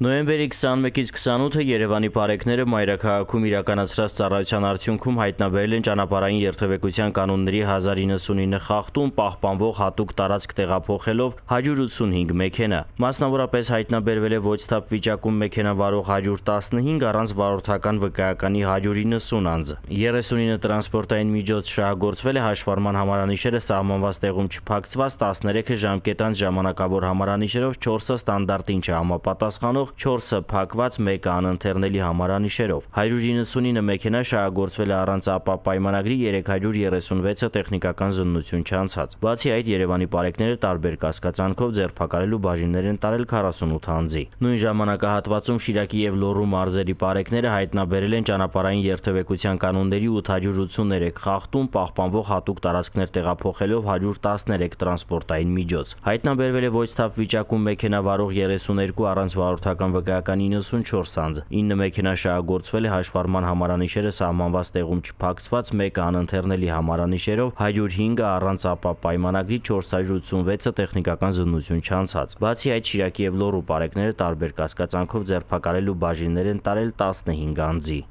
Նոյեմբերի 21-ից 28-ը Երևանի բարեկները մայրաքաղաքում իրականացրած ծառայության արդյունքում հայտնաբերել են ճանապարհային երթևեկության կանոնների 1099 խախտում, պահպանվող հատուկ տարածք տեղափոխելով 185 մեքենա։ Մասնավորապես հայտնաբերվել է ոչ թափ վիճակում մեքենա վարող 115 առանց վարորդական վկայականի 190 անձ։ 39 տրանսպորտային միջոց շահագործվել է, հաշվառման համարանիշերը սահմանված տեղում չփակցված, 13-ը ժամկետանց ժամանակավոր համարանիշերով, 4-ը ստանդարտին չհամապատասխանող, 4-ը փակված, 1-ը անընթեռնելի համարանիշերով։ 199 մեքենա շահագործվել է առանց ԱՊԱ պայմանագրի, 336-ը տեխնիկական զննություն չանցած։ Բացի այդ, Երևանի բարեկները տարբեր կասկածանքով ձերբակալել ու բաժիններ են տարել 48 անձի։ Նույն ժամանակահատվածում Շիրակի եւ Լոռու մարզերի բարեկները հայտնաբերել են ճանապարհային երթևեկության կանոնների 883 խախտում, պահպանվող հատուկ տարածքներ տեղափոխելով 113 տրանսպորտային միջոց։ Հայտնաբերվել է ոչ թափ վիճակում մեքենա վարող 32 առանց վարորդական վկայականի 94 անձ, 9 մեքենա շահագործվել է, հաշվառման համարանիշերը սահմանված տեղում չփակցված, 1-ը անընթեռնելի համարանիշերով, 105-ը առանց ԱՊԱ պայմանագրի, 486-ը տեխնիկական զննություն չանցած։ Բացի այդ, Շիրակի եւ Լոռու բարեկները տարբեր կասկածանքով ձերբակալել ու բաժիններ են տարել 15 անձի։